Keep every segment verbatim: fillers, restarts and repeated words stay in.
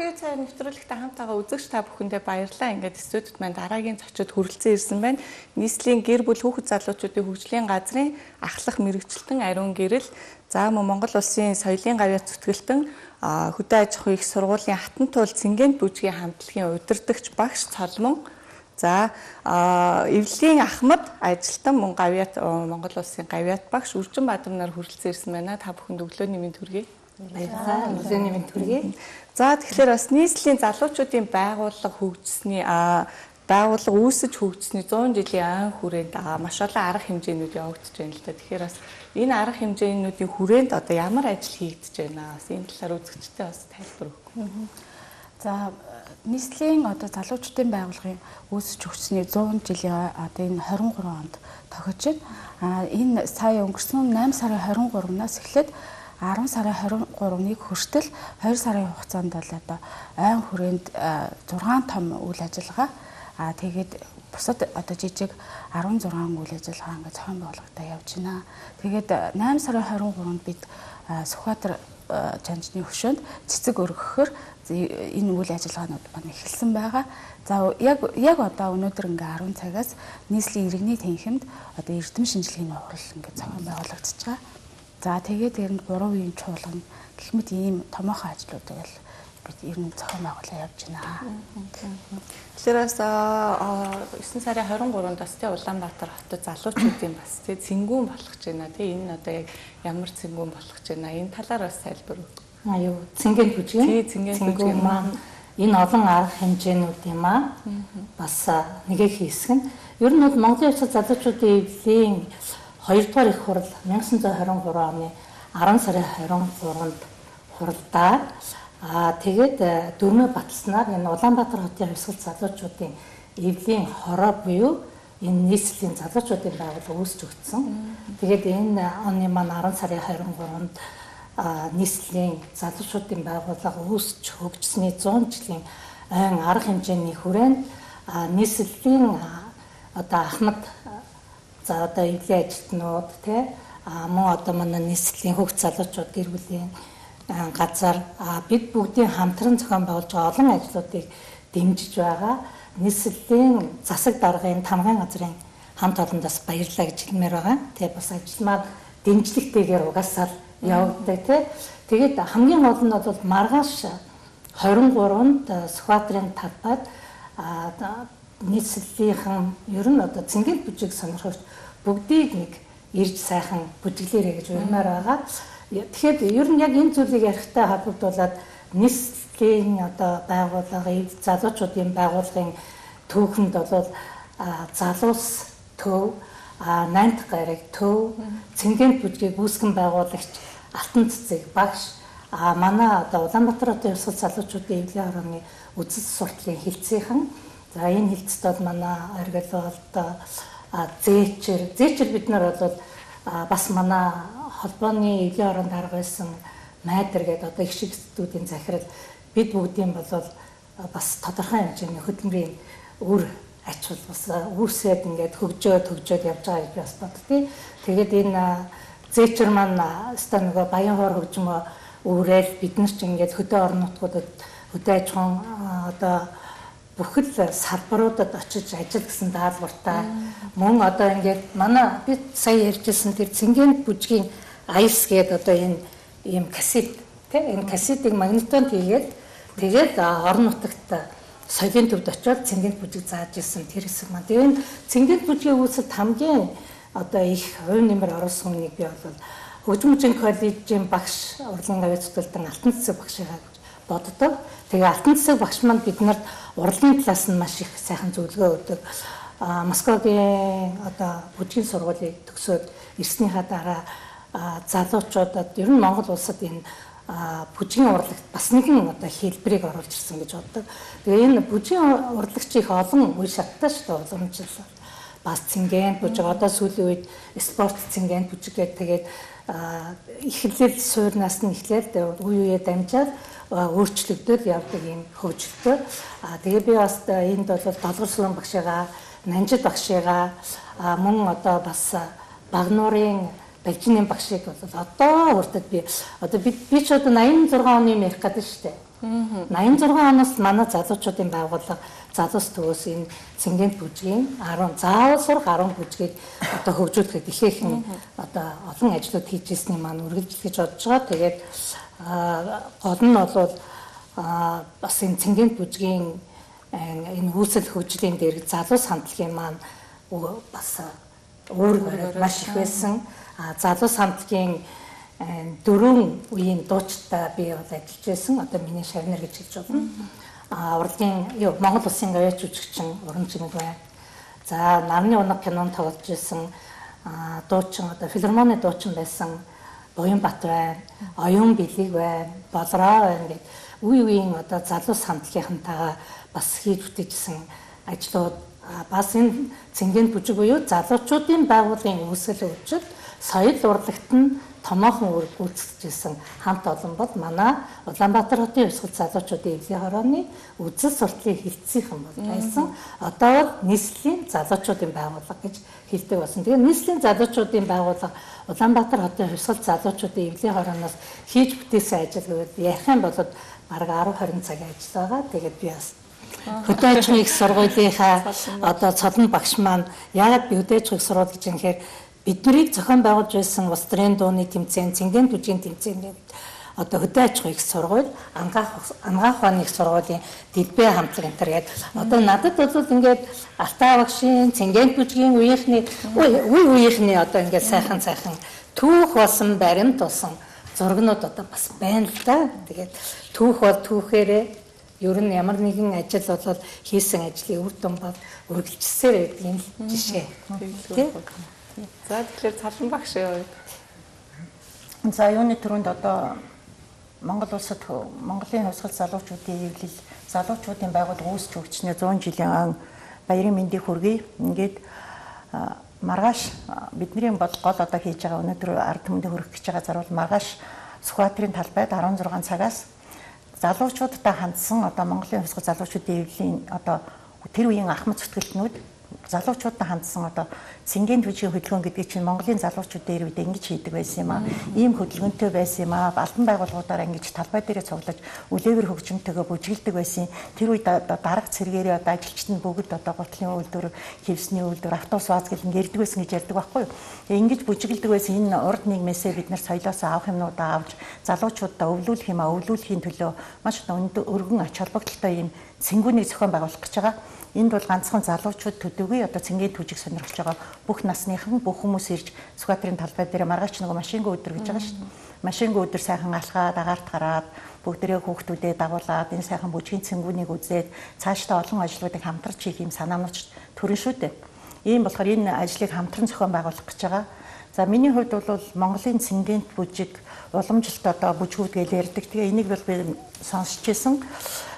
тэгээд цаа нэвтрүүлэгтээ хамтаага үзэгч та бүхэндээ баярлалаа. Ингээд студид маань дараагийн зочид хүрэлцэн ирсэн байна. Нийслэлийн гэр бүл хүүхэд залуучуудын хөгжлийн газрын ахлах мэрэгчлэн Ариун Гэрэл, за мөн Монгол Улсын соёлын гавьяа зүтгэлтэн хөдөө аж ахуйн их сургуулийн Хатан туул Цэнгэнт бүжгийн хамтлагийн удирдагч багш Цолмон, за Эвлийн Ахмад ажилтан мөн гавьяат Монгол Улсын гавьяат багш Үржин Бадам нар хүрэлцэн ирсэн байна. Та бүхэнд өглөөний мэнд хүргэе. Баярлалаа. Өглөөний мэнд хүргэе. За тэгэхээр бас нийслэлийн залуучуудын байгууллага хөгжсөний байгууллага үүсэж хөгжсөний зуун жилийн ан хүрээнд маш олон арга хэмжээнүүд явагдаж байна л да. Тэгэхээр бас энэ арга хэмжээнүүдийн хүрээнд одоо ямар ажил хийгдэж байна? Бас энэ талаар үзэгчтэй бас тайлбар өгөх. За нийслэлийн одоо залуучуудын байгууллагын үүсэж хөгжсөний зуун жилийн одоо энэ хорин гурван онд тохиож байна. А энэ сая өнгөрсөн найман сарын хорин гуравнаас эхлээд арван сарын хорин гуравныг хүртэл хоёр сарын хугацаанд бол одоо айн хүрээнд зургаан том үйл ажиллагаа аа тэгээд бусад одоо жижиг арван зургаан үйл ажиллагаа ингээд зохион байгуулалтаа явж байна. Тэгээд найман сарын хорин гуравнд бид Сүхбаатар жанжны хөшөөнд цэцэг өргөхөөр энэ үйл ажиллагаанууд маань эхэлсэн байгаа. За яг яг одоо өнөөдөр ингээ арван цагаас нийслэлийн иргэний танхимд одоо эрдэм шинжилгээний хурал ингээ зохион байгуулагдаж байгаа. За тэгээд ер нь гурван үеийн чуулган гэх мэт ийм томоохон ажлуудыг л бид ер нь зохион байгуулалт явж байна. Тэгэхээр бас есөн сарын хорин гуравнд бас тий Улаанбаатар хотод залуучуудын бас тий цэнгүүн болох гэж байна. Тий энэ одоо яг ямар цэнгүүн болох гэж байна? Энэ талаар бас тайлбар өгөх. Аа юу Цэнгэнт бүжгийн. Тий Цэнгэнт бүжгийн маань энэ олон арга хэмжээнүүд юм аа. Бас нэгэ хийсгэн. Ер нь бол Монголын улс залуучуудын эвлийн хоёрдугаар их хурал 천구 хорин гурав оны арван сарын хорин гуравнд хуралдаа аа тэгээд дөрмөө баталснаар энэ Улаанбаатар хотын хувьсгал залуучуудын эвлийн хороо буюу энэ нийслэлийн залуучуудын байгууллага үүсч өгсөн. Тэгээд энэ оны маань арван сарын хорин гуравнд нийслэлийн залуучуудын байгууллага үүсч хөгжсөний зуун жилийн айн арга хэмжээний хүрээнд нийслэлийн одоо Ахмад за одоо эвлийн ажилтнууд тий мөн одоо манай нийслэлийн хүүхд залуучууд гэр бүлийн газар бид бүгдийн хамтран зохион байгуулж байгаа олон ажлуудыг дэмжиж байгаа. Нийслэлийн засаг даргын тамгын газрын хамт олондоос баярлалаа гэж хэлмээр байгаа. Тий бас ажил маань дэмжлэгтэйгээр угаасаа явагддаг тий. Тэгээд хамгийн гол нь бол маргааш хорин гуравнд Сүхбаатарын талбайд нийслэлийнхэн ер нь одоо Цэнгэнт бүжиг сонирхогч бүгдийг нэг ирж сайхан бүжиглээрэй гэж урьмаар байгаа. Тэгэхээр ер нь яг энэ зүйлийг ярихтай холбогдуулаад нийслэлийн одоо байгууллагын залуучуудын байгууллагын түүхэнд бол залуус төв, найнт гариг төв, Цэнгэнт бүжгийг үүсгэн байгуулагч Алтан цэцэг багш манай одоо Улаанбаатар хотын хувьсгал залуучуудын эвлийн хорооны үзэл сурталын хилцээхэн. За энэ хилцэд бол манай оргилолт зээчэр зээчэр бид нар бол бас манай холбооны эвлийн хороонд арга байсан майдар гэдэг одоо их шигчдүүдийн захирал бид бүгдийн бол бас тодорхой хэмжээний хөдөлмөрийн үр ачаал бас үүсээд ингээд хөгжөөд хөгжөөд явж байгаа гэж бас боддتي. Тэгээд энэ зээчэр маань өстой нөгөө Баянхоор хөгжмөө үүрэл бид нар ч ингээд хөдөө орон нутгуудад хөдөө аж ахуйн одоо бүхэл салбаруудад очиж ажил гэсэн даалгавартай мөн одоо ингээд манай бид сая ярьжсэн тэр Цэнгэнт бүжгийн Айс гэдэг одоо энэ ийм кассет тийм энэ кассетыг магнитонд хийгээд тэгээд орон нутагт соёлын төвд очиод Цэнгэнт бүжиг зааж ирсэн тэр хэсэг маань. Тэгээд Цэнгэнт бүжгийн үүсэлд хамгийн одоо их хувь нэмэр оруулсан хүнийг би бол Хөгжмөжийн коллежийн багш урлагийн гавьяа зүтгэлтэн Алтан цэцэг багшигаа боддог. Тэгээ Алтан цэцэг багш маань биднэрт урлагийн талаас нь маш их сайхан зөвлөгөө өгдөг. Москвагийн одоо бүжгийн сургуулийг төгсөөд ирснийхаа дараа залуучуудад ер нь Монгол улсад энэ бүжгийн урлагт бас нэгэн одоо хэлбэрийг оруулж ирсэн гэж боддог. Тэгээ энэ бүжгийн урлагч их олон үе шаттай шүү дээ уламжлал. Бас Цэнгэнт бүжиг одоо сүүлийн үед спорт Цэнгэнт бүжиг гэдэг тэгээд эхлэл суурнаас нь эхлээд үе үе дамжаад өөрчлөгдөд явдаг юм хөгжилтэй. Тэгээ би бас энд бол Долгорслон багшигаа, Нанжид багшигаа мөн одоо бас Багнуурын Балжины багшиг бол одоо урдад би одоо би би ч одоо восемьдесят шесть оны ярих гэдэг шүү дээ. восемьдесят шесть оноос манай залуучуудын байгууллага залуус төвөөс энэ цэнгэнт бүжгийн десять заавал сурах десять бүжгийг одоо хөгжүүлэхэд ихээхэн одоо олон ажлууд хийж ирсний маань үргэлжлэж бодож байгаа. Тэгээд гол нь бол бас энэ цэнгэнт бүжгийн энэ үүсэл хөгжлийн дээр залуус хамтлагийн маань бас өөр маш их байсан. Залуус хамтлагийн дөрвөн үеийн дуучтай би бол ажиллаж байсан. Одоо миний шавнар гэж хэлж байна. А урлагийн юу Монгол Улсын гавьяач жүжигчин Уран Чимэг байна. За Нарны унаг кинонд тоглож байсан дуучин одоо филармоны дуучин байсан Буянбат байна. Оюун Билиг байна. Болроо байна гэдэг үе үеийн одоо залуус хамтлагийнхантайгаа бас хийж бүтээжсэн ажлууд бас энэ цэнгэнт бүжиг буюу залуучуудын байгууллагын үүсгэл хөгжил соёл урлагт нь томоохон үр гүйцэтгэжсэн хамт олон бол манай Улаанбаатар хотын хувьсгал залуучуудын эвлэлийн хорооны үзэл сурталын хилцийнхэн бол байсан. Одоо бол нийслэлийн залуучуудын байгууллага гэж хэлдэг болсон. Тэгээ нийслэлийн залуучуудын байгууллага Улаанбаатар хотын хувьсгал залуучуудын эвлэлийн хорооноос хийж бүтээсэн ажил гэвэл ярих юм бол бараг десять двадцать цагийн ажил байгаа. Тэгээд би бас хөдөө аж ахуйн их сургуулийнхаа одоо цолон багш маань яагаад би хөдөө аж ахуйн их сургууль гэж юм хэрэг биднийг зохион байгуулж байсан улс төрийн дууны тэмцээн, цэнгэнт бүжгийн тэмцээний одоо хөдөө аж ахуйн их сургууль, ангаах ангаах ухааны их сургуулийн дэлбээ хамтлаг энэ төр гээд одоо надад бол ингээд Алтаа багшийн цэнгэнт бүжгийн үеийнхний үе үеийнхний одоо ингээд сайхан сайхан түүх болсон баримт болсон зургнууд одоо бас байна л да. Тэгээд түүх бол түүхээрээ ер нь ямар нэгэн ажил бол хийсэн ажлын үр дүн бол үргэлжилсээр байдаг юм жишээ. За тэгэхээр Цалан багш юу? За юуны төрөнд одоо Монгол улсад Монголын хувьсгал залуучуудын эвлэл залуучуудын байгууллага үүсч өгчнээ сто жилийн баярын мэндийг хүргэе. Ингээд маргааш бидний бол гол одоо хийж байгаа өнөөдөр ард түмэнд хүргэх гэж байгаа зарвал маргааш Сүхбаатарын талбайд десять цагаас залуучуудтай хандсан одоо Монголын хувьсгал залуучуудын эвлэлийн одоо тэр үеийн ахмад зүтгэлтнүүд залуучуудтай хандсан одоо цэнгэнт бүжгийн хөдөлгөөн гэдэг чинь Монголын залуучуудын ирвэд ингэж хийдэг байсан юм аа. Ийм хөдөлгөөнтэй байсан юм аа. Албан байгууллагуудаараа ингэж талбай дээрээ цуглаж үлээвэр хөгжимтэйгээ бүжгэлдэг байсан. Тэр үед одоо дарга цэргээрээ одоо ажилчид нь бүгд одоо гутлын үйлдвэр, хевсний үйлдвэр, автобус ваз гэл ингэрдэг байсан гэж ярьдаг байхгүй юу. Тэгээ ингэж бүжгэлдэг байсан энэ урд нийгмээсээ бид нар соёлоос авах юмнуудаа авч залуучуудаа өвлүүлэх юм аа. Өвлүүлэхийн төлөө маш өргөн ач холбогдолтой ийм цэнгүүнийг зохион байгуулах гэж байгаа. Энд бол ганцхан залуучууд төдийгүй одоо цэнгэнт бүжиг сонирхож байгаа бүх насныхан бүх хүмүүс ирж Сүхбаатарын талбай дээр маргааш нэг машингүй өдөр гэж байгаа шүү дээ. Машингүй өдөр сайхан алхаад агаарт гараад бүгдээрээ хүүхдүүдээ дагуулад энэ сайхан бүжгийн цэнгүүнийг үзээд цаашдаа олон ажлуудыг хамтарч хийх юм санаанууч төрөн шүү дээ. Ийм болохоор энэ ажлыг хамтран зохион байгуулах гэж байгаа. За миний хувьд бол Монголын цэнгэнт бүжиг уламжилт одоо бүжгүүд гэж ярьдаг. Тэгээ энийг бол би сонсч байсан.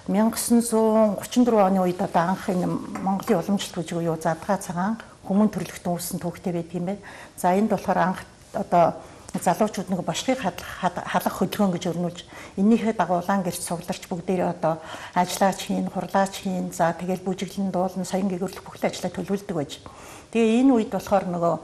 천구백삼십사 оны үед одоо анх энэ Монголын уламжилт бүжиг юу задгаа цагаан хүмүүн төрлөختөн үүссэн түүхтэй байдаг юм байна. За энд болохоор анх одоо залуучууд нэг бошгийг халах хөдөлгөөн гэж өрнүүлж эннийхээ дагуу улаан гэрч цугларч бүгдээрээ одоо ажиллаач хийн, хурлаач хийн, за тэгэл бүжиглэн дуулна, соён гэгөрлөх бүхэл ажлаа төлөвлөдөг байж. Тэгээ энэ үед болохоор нөгөө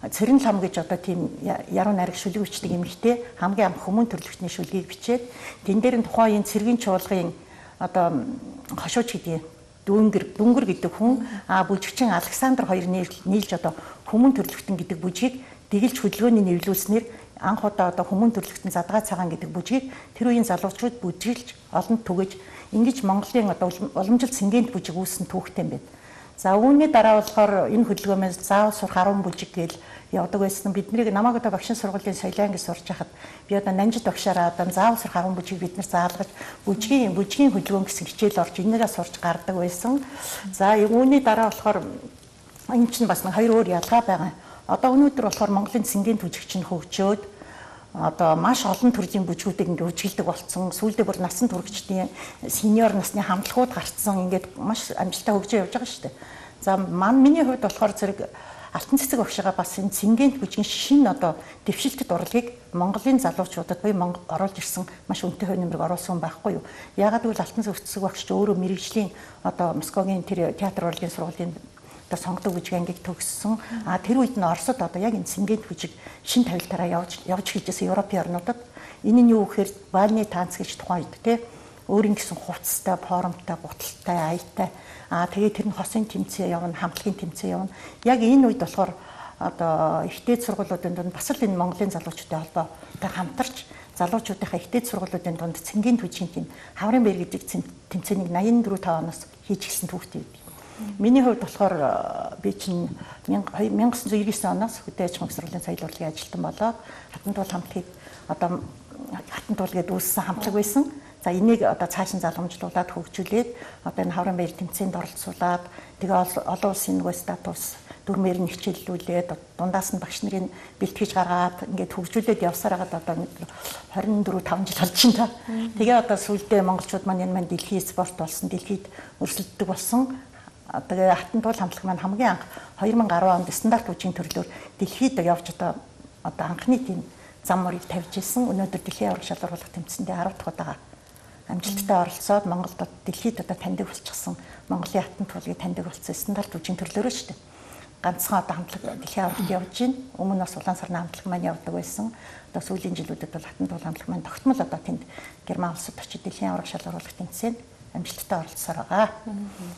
Цэрэн лам гэж одоо тийм яруу найраг шүлэг бичдэг эмэгтэй хамгийн анх хүмүүн төрлөختний шүлгийг бичээд тэн дээр нь тухайн энэ цэргийн чуулгын одоо хошууч гэдэг дүнгэр дүнгэр гэдэг хүн а бүжигчин Александр хоёр нийлж одоо хүмүүн төрлөختөн гэдэг бүжгийг дэгэлж хөдөлгөөний нэвлүүлснээр анх удаа одоо хүмүүн төрлөختөн задгаа цагаан гэдэг бүжгийг тэр үеийн залуучууд бүжиглж олонд түгэж ингэж Монголын одоо уламжлалт цэнгэнт бүжиг үүссэн түүхтэй юм байна. За үүний дараа болохоор энэ хөдөлгөөнөөс заавал сурах десять бүжиг гээл явдаг байсан. Биднийг намайг одоо багшийн сургуулийн соёлын анги сурч хахад би одоо Нанжид багшаараа одоо заавал сурах десять бүжиг бид нар заалгаж бүжгийн бүжгийн хөдөлгөөн гэсэн хичээл орж энээрээ сурч гардаг байсан. За үүний дараа болохоор энэ чинь бас нэг хоёр өөр ялгаа байгаа. Одоо өнөөдөр болохоор Монголын цэнгэнт бүжиг чинь хөгжөөд одоо маш олон төрлийн бүжгүүдийг ингээд үжиглдэг болсон. Сүүлдээ бүр насан туршидтын сениор насны хамтлагууд гарцсан. Ингээд маш амжилттай хөгжөө явж байгаа шүү дээ. За мань миний хувьд болохоор зэрэг Алтан цэцэг багшгаа бас энэ цэнгэнт бүжгийн шинэ одоо дэвшилтэд урлагийг Монголын залуучуудад буюу Монгол оруулж ирсэн маш үнэтэй хувь нэмрэг оруулсан байхгүй юу. Яагаад гэвэл Алтан цэцэг багш ч өөрөө мэрэгжлийн одоо Москвагийн тэр театр урлагийн сургуулийн одоо сонгодог бүжиг ангийг төгссөн. А тэр үед нь Оросд одоо яг энэ цэнгэнт бүжиг шин тавилтаараа явж явж хийжсэн Европын орнуудад энэ нь юу гэхээр бальны танц гэж тухайн үед тий өөрийн гэсэн хувцастай, формтой, гуталтай, аятай. Аа тэгээд тэр нь хосын тэмцээн явна, хамтлагийн тэмцээн явна. Яг энэ үед болохоор одоо ихтэй сургуулиудын дунд бас л энэ Монголын залуучуудын холбоотой хамтарч залуучуудынхаа ихтэй сургуулиудын дунд цэнгийн түвшин тийм хаврын бэр гэдэг тэмцээнийг восемь дөрөв оноос хийж гисэн түүхтэй бид. Миний хувьд болохоор би чинь 천구၉九оноос хөдөө аж ахуйн сургуулийн соёл урлагийн ажилтан болоод хатан туул хамтлагийг одоо хатан туул гэдэг үүссэн хамтлаг байсан. За энийг одоо цааш нь залгамжлуулаад хөгжүүлээд одоо энэ хаврын баяр тэмцээнд оролцуулаад тэгээ олон улсын нөгөө статус дүрмээр нь хичээллүүлээд дундаас нь багш нарын бэлтгэж гаргаад ингээд хөгжүүлээд явсаар хагаад одоо двадцать четыре five жил болж байна. Тэгээ одоо сүүлдээ монголчууд маань энэ маань дэлхийн спорт болсон, дэлхийд өрсөлддөг болсон. Тэгээ хатан туул хамтлаг маань хамгийн анх two thousand ten онд стандарт үеийн төрлөөр дэлхийд явж одоо одоо анхны тийм зам мөрийг тавьж ирсэн. Өнөөдөр дэлхийн авраг шалгаруулах тэмцээндээ ten дахь удаа амжилттай оролцоод Монголд дэлхийд одоо таньдаг болчихсон. Монголын хатан туулыг таньдаг болсон стандарт үеийн төрлөөрөө шүү дээ. Ганцхан одоо хамтлаг дэлхийн аврагт явж байна. Өмнө нь бас улаан сарны хамтлаг маань явдаг байсан. Одоо сүүлийн жилүүдэд бол хатан туул хамтлаг маань тогтмол одоо тэнд Герман улсад очиж дэлхийн авраг шалгаруулах тэмцээнд амжилттай оролцсоор байгаа.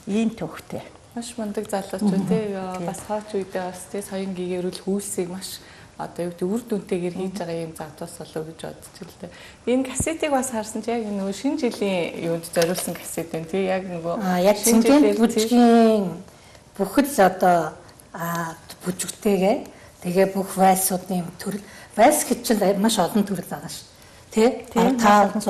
Ийм төвхтэй. Маш мундаг залуучууд тий бас хооч үедээ бас тий соён гэгэрүүл хүйсийг маш одоо юу гэдэг үр дүнтэйгээр хийж байгаа юм завдас болов гэж бодчих л дээ. Энэ кассетыг бас харсан чи яг нөгөө шинэ жилийн юунд зориулсан кассет байна тий яг нөгөө яг шинэ бүжгийн бүхэл одоо бүжигтэйгээ тэгээ бүх вальсуудын төрөл вальс гэж чинь маш олон төрөл байгаа шүү. Тэ five six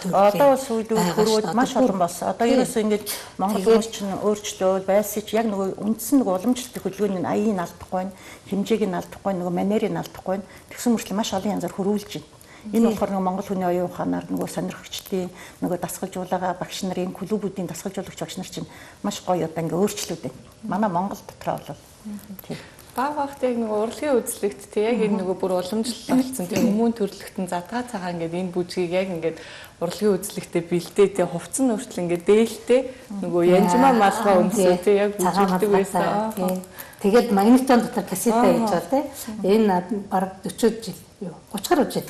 төрөл. Одоо сүүлдээ төрүүд маш олон болсон. Одоо ерөөсөө ингэж Монгол хүмүүс чинь өөрчлөө байсч яг нөгөө үндсэн нөгөө уламжлалт хөдөлгөөний аяыг алдахгүй, хэмжээг нь алдахгүй, нөгөө манерыг нь алдахгүй. Тэгсэн мөрчлөө маш олон янзаар хөрвүүлж байна. Энэ болохоор нөгөө Монгол хүний оюун ухаанаар нөгөө сонирхогчдын нөгөө дасгалжуулага багш нарын клубүүдийн дасгалжуулагч багш нар чинь маш гоё одоо ингээ өөрчлөлт байна. Манай Монгол дотроо бол тийм баг багт яг нөгөө урлагийн үзлэгт тий яг энэ нөгөө бүр уламжлал болсон тий хүмүүн төрлөختөн задгаа цагаан ингээд энэ бүжгийг яг ингээд урлагийн үзлэгтээ бэлдээ тий хувцсан өөрчлөл ингээд дээлтэй нөгөө янжмаа малгай өмсөө тий яг бүжигдэг байсан. Тэгээд магнитон дотор кассета хийж байгаа тий энэ баг forty жил юу thirty гаруй жил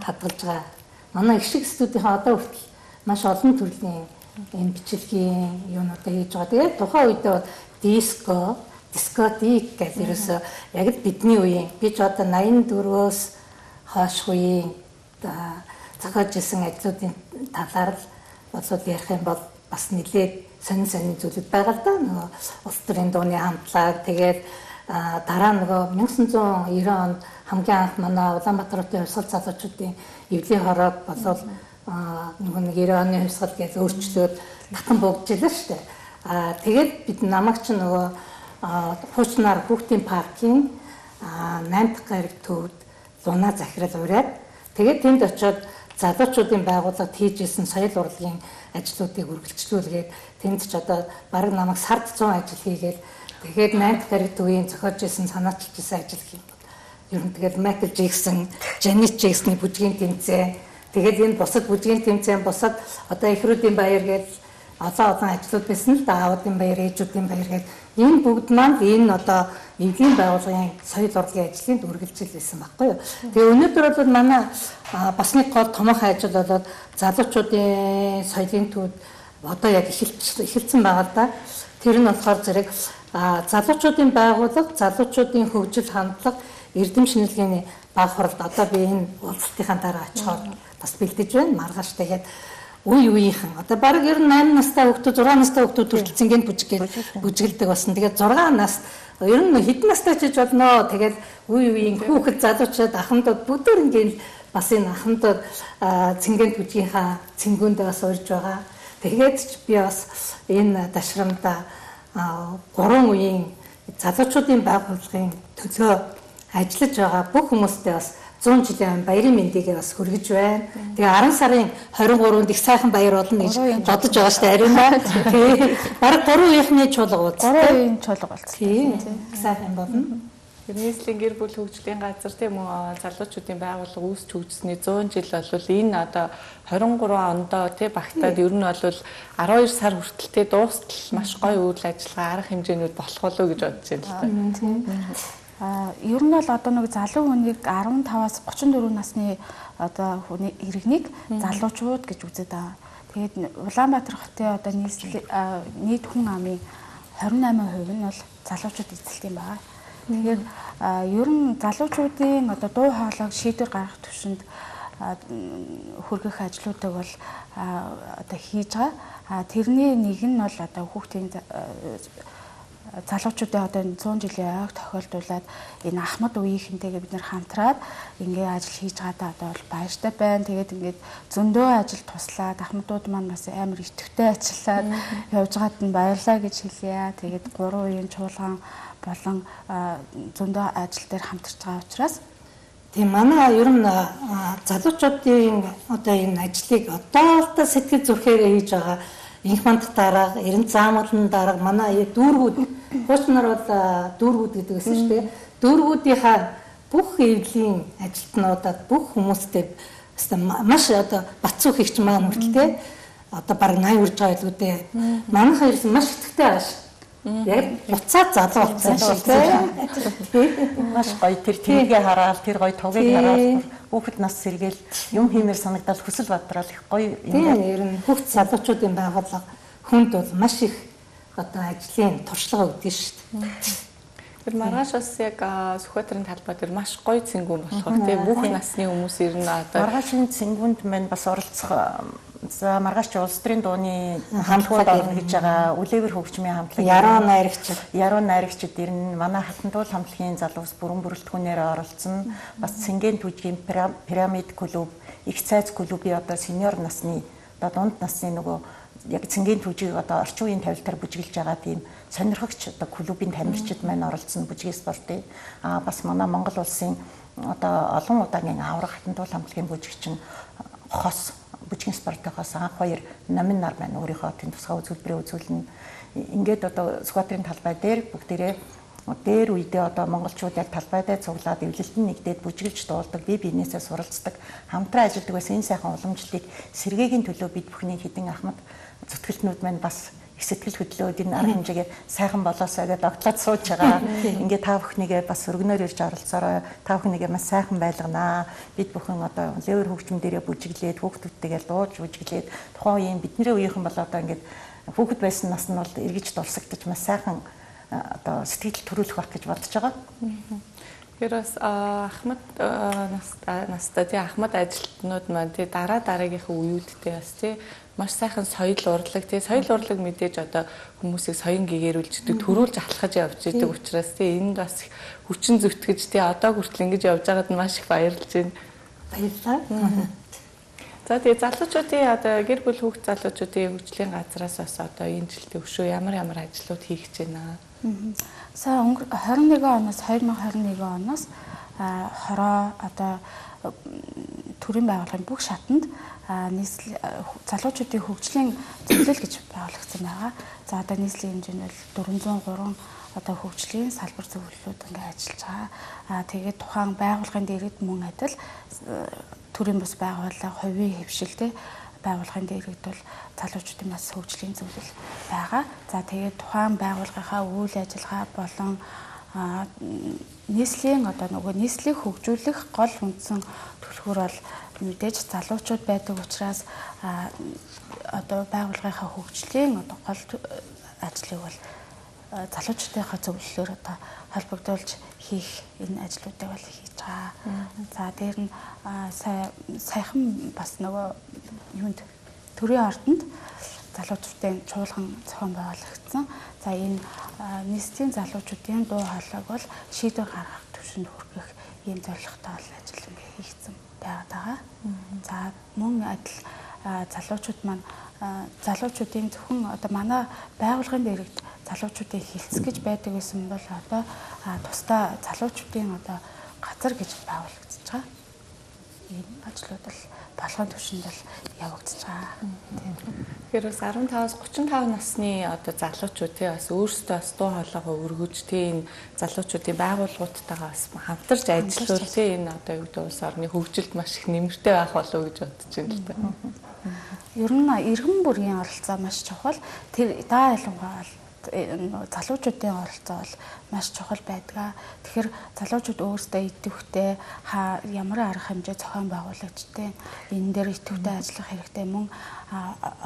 хадгалж байгаа. Манай их шиг студийнхаа одоо хүртэл маш олон төрлийн энэ бичлэгийн юунуудаа хийж байгаа. Тэгээд тухайн үедээ диско дискотик гэдэг ерөөсөө яг л бидний үеийн би ч одоо ninety-four-оос хойш үеийн цагааж исэн ажлуудын талаар л бодсод ярих юм бол бас нэлээд сонин сонин зүйлүүд байгаа л да. Нөгөө улс төрийн дууны хамтлаг тэгээд дараа нөгөө nineteen ninety онд хамгийн анх манай Улаанбаатар хотын хувьсгал залуучуудын эвлийн хорог болол нөгөө нэг ninety оны хувьсгал гэж өөрчлөөд татан богдчихлаа шүү дээ. Аа тэгээд бид намайг ч нөгөө хуучнаар хүүхдийн паркийн nine дахь гариг төвд луна захирал ураад тэгээд тэнд очиод залуучуудын байгууллагад хийжсэн соёл урлагийн ажлуудыг үргэлжлүүлгээд тэнд ч одоо бараг намайг сард one hundred ажил хийгээд тэгээд nine дахь гариг төвийн зохиож исэн санаачилж исэн ажил хийм. Ер нь тэгээд Майкл Джексон, Жанет Джексоны бүжгийн тэмцээн тэгээд энэ бусад бүжгийн тэмцээн бусад одоо эхрүүдийн баяр гэж олон олон ажлууд байсан л да. Аавуудын баяр, ээжүүдийн баяр гэж энэ бүгд маань энэ одоо эвлийн байгууллагын соёл урлагийн ажлын үргэлжлэл байсан байхгүй юу. Тэгээ өнөөдөр бол манай бас нэг гол томоохон ажил болоод залуучуудын соёлын төвд одоо яг эхэлсэн байгаа л да. Тэр нь болохоор зэрэг залуучуудын байгууллага, залуучуудын хөгжил хандлага, эрдэм шинжилгээний баг хуралд одоо би энэ уулзалтынхаа дараа очихоор бас бэлдэж байна. Маргааш тэгээд үе үеийнхэн одоо баг ер нь eight настай хүүхдүүд six настай хүүхдүүд хүртэл цэнгэнд бүжиглээд бүжиглдэг болсон. Тэгээд six нас ер нь хэдэн настай ч гэж болно. Тэгээд үе үеийн хүүхэд залуучууд ахмадууд бүгд ингээд бас энэ ахмадууд цэнгэнд бүжгийнхаа цэнгүүндээ бас урьж байгаа. Тэгээд ч би бас энэ дашрамда гурван үеийн залуучуудын байгууллагын төлөө ажиллаж байгаа бүх хүмүүстээ бас one hundred жилийн баярын мэндийг бас хүргэж байна. Тэгээ ten сарын twenty-third их сайхан баяр болно гэж бодож байгаа шүү дээ. Ариун ба. Тэгээ бараг three үеийнхний чуулга уулз. three үеийн чуулга уулз. Тийм. Сайхан болно. Нийслэлийн гэр бүл хөгжлийн газар тийм үү залуучуудын байгууллага үүсч хөгжсөний one hundred жил бол энэ одоо twenty-three ондоо тий багтаад ер нь бол twelve сар хүртэлтэй дуустал маш гоё үйл ажиллагаа арга хэмжээнүүд болох болов уу гэж бодож байна л да. А ер нь бол одоо нэг залуу хүнийг fifteen-аас thirty-four насны одоо хүний иргэнийг залуучууд гэж үздэг байгаа. Тэгээд Улаанбаатар хотын одоо нийт хүн амын хорин найман хувь нь бол залуучууд эзэлт юм байна. Тэгэхээр ер нь залуучуудын одоо дуу хоолойг шийдвэр гаргах төвшөнд хүргэх ажлуудыг бол одоо хийж байгаа. Тэрний нэг нь бол одоо хүүхдийн залуучуудын одоо зуун жилийн ойг тохиолдуулаад энэ Ахмад үеийнхэнтэйгээ бид нэр хамтраад ингээ ажил хийж байгаадаа одоо бол баяртай байна. Тэгээд ингээд зөндөө ажил туслаад Ахмадууд маань бас амар идэвхтэй ажиллаад явж байгаад нь баярлаа гэж хэлье. Тэгээд гурван үеийн чуулган болон зөндөө ажил дээр хамтарч байгаа учраас тийм манай ер нь залуучуудын одоо энэ ажлыг одоо л сэтгэл зүрхээрээ хийж байгаа инх манд дарга, эрен заамгалан дарга манай дүүргүүд хуучнаар бол дүүргүүд гэдэг гэсэн шүү дээ. Дүүргүүдийнхаа бүх эвлийн ажилтнуудад бүх хүмүүстэй маш одоо бацуу хийгч маань хүртэл те одоо баг найр урж байгаа илүү дээ. Манайхаа ирсэн маш итгэвтэй байгаа ш. Яг буцаад залуу болсон шүү дээ. Маш гоё тэр тэмгээ хараад тэр гоё тугийг хараад хүүхэд нас сэргээл юм хиймээр санагдал хүсэл бадрал их гоё юм. Ер нь хүүхд залуучуудын байгууллага хүнд бол маш их одоо ажлын туршлага өгдөг шүү дээ. Тэр маргааш бас яг Сүхбаатарын талбай дээр маш гоё цэнгүүн болохоор тийм бүх насны хүмүүс ирнэ одоо маргаашийн цэнгүүнд маань бас оролцох за маргааш улс төрийн дууны хамтлагууд орно гэж байгаа үлээвэр хөгжмийн хамтлаг яруу найрагч яруу найрагчид ирнэ манай хатан туул хамтлагийн залуус бүрэн бүрэлдэхүүнээр оролцсон бас Цэнгийн түжгийн пирамид клуб их цайз клубын одоо сениор насны одоо дунд насны нөгөө яг Цэнгийн түжийг одоо орчин үеийн тавилтаар бүжиглж байгаа тийм сонирхогч одоо клубын тамирчид маань оролцсон бүжгийн спортын а бас манай Монгол улсын одоо олон удаагийн аврах хатан туул хамтлагийн бүжигчин хос бүжгийн спортоос анх хоёр номин нар маань өөрийнхөө тийм тусгай үзүүлбэрээ үзүүлнэ. Ингээд одоо Сүхбаатарын талбай дээр бүгдээрээ дээр үедээ одоо монголчууд яг талбай дээр цуглаад эвлэлтэн нэгдээд бүжиглж дуулдаг, бие биенээсээ суралцдаг, хамтран ажилладаг байсан энэ сайхан уламжлалыг сэргээгийн төлөө бид бүхний хідэн Ахмад зүтгэлтнүүд маань бас их сэтгэл хөдлөөд энэ арга хэмжээгээ сайхан болоосоо гэдээ огтлаад сууж байгаа. Ингээ та бүхнийгээ бас өргөнөөр ирж оролцоорой. Та бүхнийгээ маш сайхан байлганаа. Бид бүхэн одоо левер хөгжим дээрээ бүжиглээд хүүхдүүдтэйгээ дууж бүжиглээд тухайн үеийн бидний үеийнхэн бол одоо ингээд хүүхэд байсан нас нь бол эргэж дурсагдаж маш сайхан одоо сэтгэл төрүүлэх байх гэж бодож байгаа. Тэгэхээр бас Ахмад настай тий Ахмад ажилтнууд маань тий дараа дараагийнхаа үеүүдтэй бас тий маш сайхан соёл урлаг тий соёл урлаг мэдээж одоо хүмүүсийг соён гэгэрүүлждэг төрүүлж алхаж явж идэг учраас тий энд бас хүчин зүтгэж тий одоо хүртэл ингэж явж байгаад маш их баярлж байна. Баярлалаа. За тий залуучуудын одоо гэр бүл хүүхд залуучуудын хөгжлийн газраас бас одоо энэ жилдээ өшөө ямар ямар ажлууд хийх гэж байна. Сая хорин нэгэн оноос хоёр мянга хорин нэгэн оноос хороо одоо төрийн байгууллагын бүх шатанд нийслэл залуучуудын хөгжлийн зөвлөл гэж байгуулагдсан байгаа. За одоо нийслэлийн хэмжээнд бол дөрвөн зуун гурван одоо хөгжлийн салбар зөвлөлүүд ингээ ажиллаж байгаа. Аа тэгээд тухайн байгууллагын дээрээ мөн адил төрийн бус байгууллага, хувийн хөвшилтэй байгууллагын дээрээ бол залуучуудын бас хөгжлийн зөвлөл байгаа. За тэгээд тухайн байгууллагынхаа үйл ажиллагаа болон нийслэлийн одоо нөгөө нийслэлийг хөгжүүлэх гол үндсэн түлхүүр бол мэдээж залуучууд байдаг учраас одоо байгууллагынхаа хөгжлийн одоо гол ажлыг бол залуучуудынхаа зөвлөлөөр одоо холбогдуулж хийх энэ ажлуудыг бол хийж байгаа. За дээр нь саяхан бас нөгөө юунд төрийн ордонд залуучуудын чуулган зохион байгуулагдсан. За энэ нийслэлийн залуучуудын дуу хоолойг бол шийдвэр гаргах төвшөнд хүргэх ийм зорилготой бол ажил ингээ хийгдсэн байгаа. За мөн адил залуучууд маань залуучуудын зөвхөн одоо манай байгууллагын дээрээ залуучуудын хилцэх гэж байдаг гэсэн бол одоо тусдаа залуучуудын одоо газар гэж байгуулагдаж байгаа. Энэ ажлууд бол болгоом төвшөнд бол явагдаж байгаа. Тэгэхээр бас арван таваас гучин тав насны одоо залуучууд тий бас өөрсдөө бас дуу хоолойгоо өргөж тий энэ залуучуудын байгууллагуудтайгаа бас хамтарч ажиллавал тий энэ одоо юу гэдэг улс орны хөгжилд маш их нэмэртэй байх болов уу гэж бодож байна л да. Ер нь иргэн бүрийн оролцоо маш чухал. Тэр даа ялангуяа залуучуудын оролцоо бол маш чухал байдаг. Тэгэхээр залуучууд өөрсдөө идэвхтэй ямар арга хэмжээ зохион байгуулагчтай энэ дээр идэвхтэй ажиллах хэрэгтэй. Мөн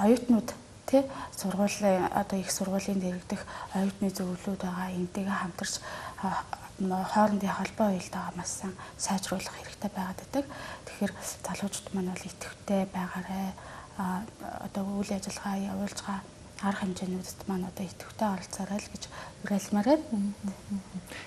оюутнууд тий сургуулийн одоо их сургуулийн дэргэдэх оюутны зөвлөлүүд байгаа. Энтэйгээ хамтарч хоорондын холбоо уялдаагаа маш сайн сайжруулах хэрэгтэй байгаад байдаг. Тэгэхээр залуучууд маань бол идэвхтэй байгаарай. Одоо үйл ажиллагаа явуулж байгаа арга хэмжээнүүдэд маань одоо идэвхтэй оролцоорой л гэж уриалмаар байна.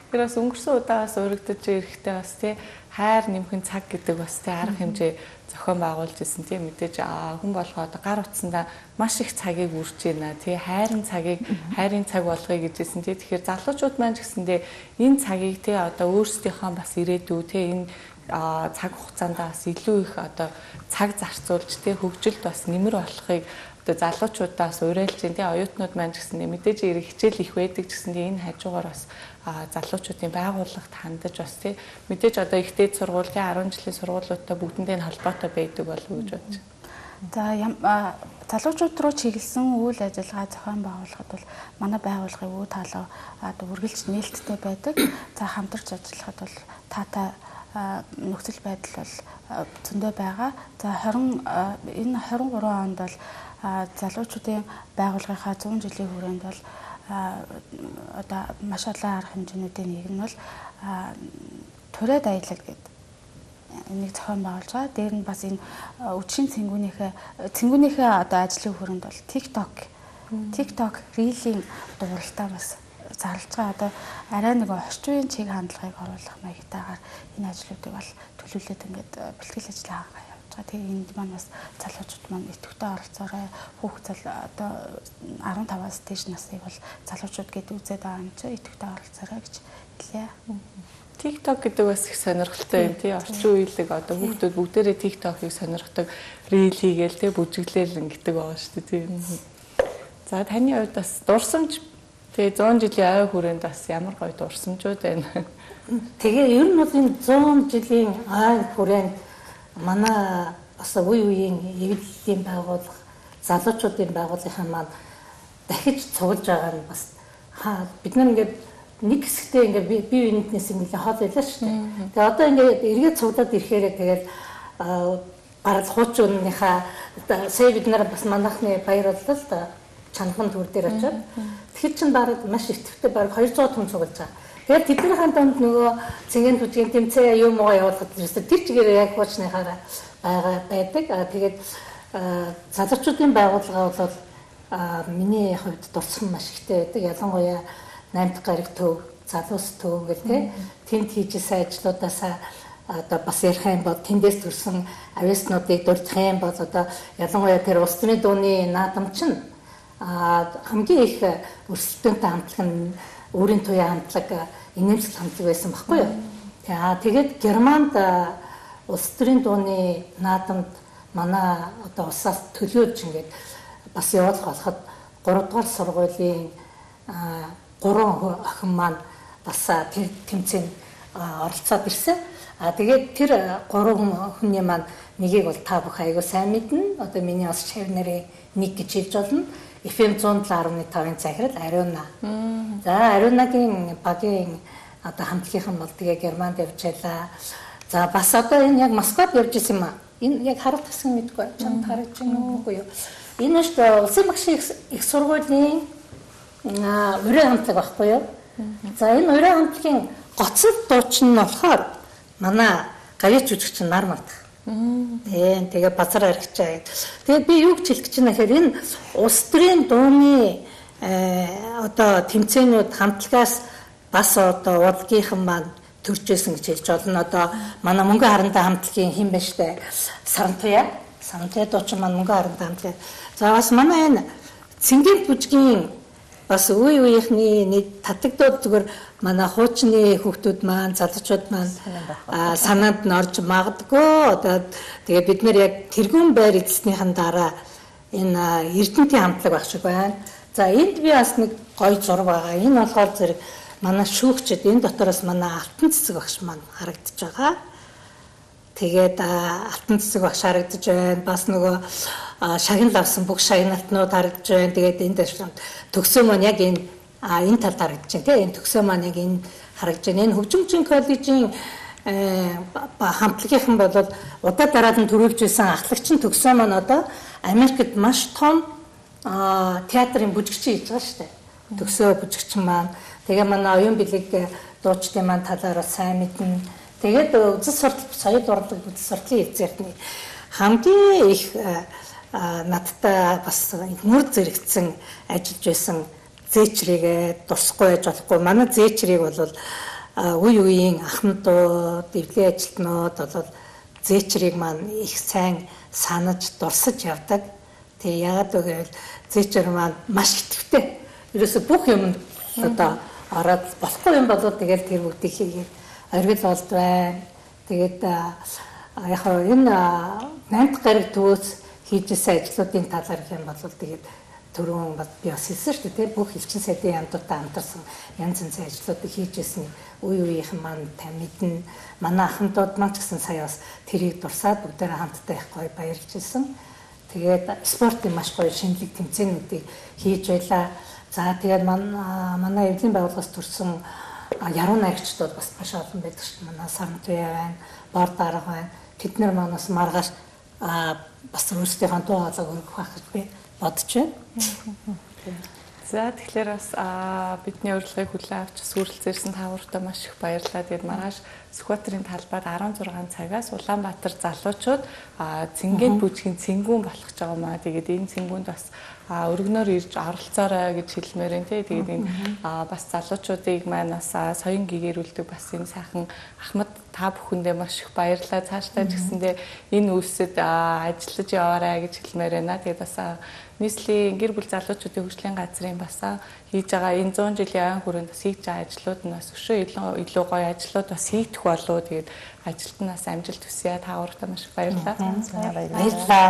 Тэр бас өнгөрсөн удаагаас өргөдөж ирэхдээ бас тий хайр нэмхэн цаг гэдэг бас тий арга хэмжээ зохион байгуулж ирсэн тий мэдээж хүн болгоо одоо гар утсандаа маш их цагийг үрж байна тий хайрын цагийг хайрын цаг болгоё гэжсэн тий тэгэхээр залуучууд маань ч гэсэндээ энэ цагийг тий одоо өөрсдийнхөө бас ирээдүй тий энэ цаг хугацаанд бас илүү их одоо цаг зарцуулж тий хөгжилд бас нэмэр болохыг одоо залуучуудаас уриалж тий оюутнууд маань ч гэсэндээ мэдээж ирэх хичээл их байдаг ч гэсэндээ энэ хажуугаар бас залуучуудын байгууллагт хандаж бас тий мэдээж одоо их дээд сургуулийн арван жилийн сургуулиудтай бүгдэндээ холбоотой байдаг болов уу гэж бодож байна. За залуучууд руу чиглэсэн үйл ажиллагаа зохион байгуулахад бол манай байгууллагын үе таалаа одоо үргэлж нээлттэй байдаг. За хамтарч ажиллахад бол таатай нөхцөл байдал бол зөндөө байгаа. За двадцать энэ двадцать гурван онд бол залуучуудын байгууллагынхаа зуун жилийн хүрээнд бол одоо маш олон арга хэмжээнүүдийн нэг нь бол тураад аялал гэдэг энийг зохион байгуулж байгаа. Дээр нь бас энэ үдшийн цэнгүүнийхээ цэнгүүнийхээ одоо ажлын хүрээнд бол TikTok TikTok Reel-ийн дууралтаа бас зарлж байгаа. Одоо арай нэг орчин үеийн чиг хандлагыг оруулах маягтайгаар энэ ажлуудыг бол төлөвлөлөд ингээд бэлтгэл ажиллагаа Тэгээ энд маань бас залуучууд маань идэвхтэй оролцоорой. Хүүхд зал одоо арван таваас дээш насыг бол залуучууд гэдэг үзээд байгаа юм чи идэвхтэй оролцоорой гэж хэлье. TikTok гэдэг бас их сонирхолтой юм тий. Орчин үеийг одоо хүүхдүүд бүгдээрээ TikTok-ыг сонирхдаг, Reel хийгээл тий бүжиглээл ингэдэг байгаа шүү дээ тий. За таны хувьд бас дурсамж тий зуун жилийн ой хүрээнд бас ямар гоё дурсамжууд байна. Тэгээ ер нь бол энэ зуун жилийн ой хүрээнд манай бас үе үеийн эвлэлийн байгууллага, залуучуудын байгууллагын маань дахиж цуглаж байгаа нь бас хаа бид нар ингээд нэг хэсэгтээ ингээд бие биенээс ингээд хол байлаа шүү дээ. Тэгээ одоо ингээд эргээд цуглаад ирэхээр тэгээд гарал хуучууныхаа сая бид нар бас манайхны баяр боллоо л да чанаган төр дээр очиод тэгэхээр чин бараг маш ихэвчлэн бараг двухсад хүн цуглаж байгаа. Тэгээд тэднийхэн донд нөгөө цэнгийн түжгийн тэмцээн юм уу явуулахад ерөөсө тэр чигээр яг хуучныхаараа байгаа байдаг. Аа тэгээд залуучуудын байгууллага бол миний хувьд дурсан маш ихтэй байдаг. Ялангуяа наймд гараг төв, залуус төв гэх тээ тэнд хийжсэн ажлуудаасаа одоо бас ярих юм бол тэндээс төрсэн авиаснуудыг дурдах юм бол одоо ялангуяа тэр улс төрийн дууны наадам чинь хамгийн их өрсөлдөөнтэй хамтлаг нь өөрийн туяа хамтлаг инээмсэл хамтлаг байсан байхгүй юу. За тэгээд Германд улс төрийн дууны наадамд манай одоо улсаас төлөөж ингээд бас явуулах болоход гурав дахь сургуулийн гурван охин маань бас тэр тэмцээнд оролцоод ирсэн. А тэгээд тэр гурван охины маань нэгийг бол та бүх аягүй сайн мэднэ. Одоо миний бас шавь нарын нэг гэж хэлж болно. эф эм one oh seven point five-ын захирал Ариуна. За Ариунагийн багийн одоо хамтлагийнхан бол тэгээ Германд явж байлаа. За бас одоо энэ яг Москвад явж исэн юм аа. Энэ яг харах гэсэн мэдгүй. Чамд харж байна уу юу? Энэ ч улсын багшийн их сургуулийн уран хамтлаг байхгүй юу? За энэ уран хамтлагийн гоцол дуучин нь болохоор манай гавьяа жүжигч нар мартах. Тийм тэгээ базар аригчаа. Тэгээ би юу гэж хэлэх гэж байна гэхээр энэ улс төрийн дууны одоо тэмцээнүүд хамтлагаас бас одоо урлагийнхан маань төржсэн гэж хэлж болно. Одоо манай мөнгө харантай хамтлагийн хэн бэ штэ Сарантуя. Сарантуя дуучин маань мөнгө харантай хамтлаг. За бас манай энэ цэнгийн бүжгийн бас үе үеийнхний нэг татагдаад зүгээр манай хуучны хүүхдүүд маань залуучууд маань санаанд нь орж магадгүй. Одоо тэгээ бид нэр яг тэргүүн байр эзэснийхэн дараа энэ Эрдэнэтийн хамтлаг байх шиг байна. За энд би бас нэг гоё зураг байгаа. Энэ болохоор зэрэг манай шүүгчд энэ дотороос манай алтан цэцэг багш маань харагдаж байгаа. Тэгээд алтан цэцэг багш харагдаж байна. Бас нөгөө шагнал авсан бүх шагналтнууд харагдаж байна. Тэгээд энэ дэвшилт төгсөө маань яг энэ а энэ талд харагдаж байна тийм энэ төгсөө маань яг энэ харагдаж байна. Энэ хөгжимчин коллежийн хамтлагийнхан бол удаа дараад нь төрүүлж байсан ахлагчин төгсөө маань одоо Америкт маш том театрын бүжигчин хийж байгаа шүү дээ. Төгсөө бүжигчин маань тэгээ манай оюун бэлэг дуучдын маань талаараа сайн мэднэ. Тэгээд үзэл суртал соёл урлаг үзэл сурталын эзэртний хамгийн их надтай бас нүр зэрэгцэн ажиллаж байсан зээчрийг дурсахгүй байж болохгүй. Манай зээчрийг бол үе үеийн ахмадууд, эвлэлийн ажилтнууд бол зээчрийг маань их сайн санаж дурсаж явдаг. Тэгээ яагаад гэвэл зээчр маань маш итгэвтэй. Ерөөсө бүх юм одоо ороод болохгүй юм болоод тэгэл тэр бүгдийг хийгээд оргил болд байна. Тэгээд яг энэ наймд гараг төвөөс хийжсэн ажлуудын талаар юм бол тэгээд түрүүн би бас хэлсэн шүү дээ. Бүх элчин сайдын яамдуудтай хамтарсан янз янзын ажлуудыг хийжсэн үе үеийнхэн маань мэднэ. Манай ахмадууд маань ч гэсэн сая бас тэрийг дурсаад бүгдээрээ хамтдаа их гоё баярлж ирсэн. Тэгээд спортын маш гоё шинэлэг тэмцээнүүдийг хийж байлаа. За тэгээд манай эвлийн байгууллагаас төрсэн яруу найрагчдууд бас маш олон байдаг шүү дээ. Манай Сарнтуяа байна, Бор дарга байна. Тэд нар манаас маргааш бас өөрсдийнхөө дуу хоолойг өргөх байх гэж би бодож байна. За тэгэхээр бас бидний урилгыг хүлээн авч сүрэлцээрсэн та бүхэнд маш их баярлалаа. Тэгээд маргааш Сүхбаатарын талбайд арван зургаан цагаас Улаанбаатар залуучууд цэнгээн бүжгийн цэнгүүн болох гэж байгаа маа. Тэгээд энэ цэнгүүнд бас өргөнөөр ирж оролцоорой гэж хэлмээр байна тий. Тэгээд энэ бас залуучуудыг маань бас соён гэгэрүүлдэг бас энэ сайхан Ахмад та бүхэндээ маш их баярлалаа. Цаашдаа ч гэсэндээ энэ үйлсэд ажиллаж яваарай гэж хэлмээр байна. Тэгээд бас нийслэлийн гэр бүл залуучуудын хөгжлийн газрын бас хийж байгаа энэ зуун жилийн айн хүрээнд бас хийж байгаа ажлууд нь бас өшөө илүү илүү гоё ажлууд бас хийгдэх болов. Тэгээд ажилд нь бас амжилт хүсье. Та бүхэнд маш их баярлалаа. Баярлалаа.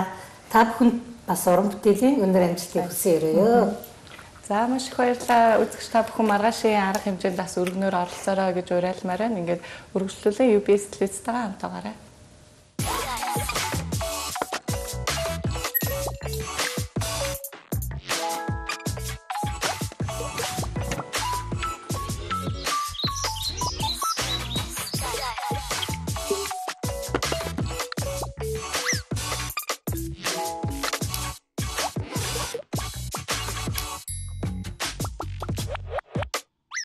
Та бүхэнд бас уран бүтээлийн өндөр амжилтыг хүсье өрөөё. За маш их баярлалаа. Үзэгч та бүхэн маргаашийн арга хэмжээнд бас өргөнөөр оролцоорой гэж уриалмаар байна. Ингээд өргөжлүүлэн ю би эс телевизтэйгээ хамтаагаарай.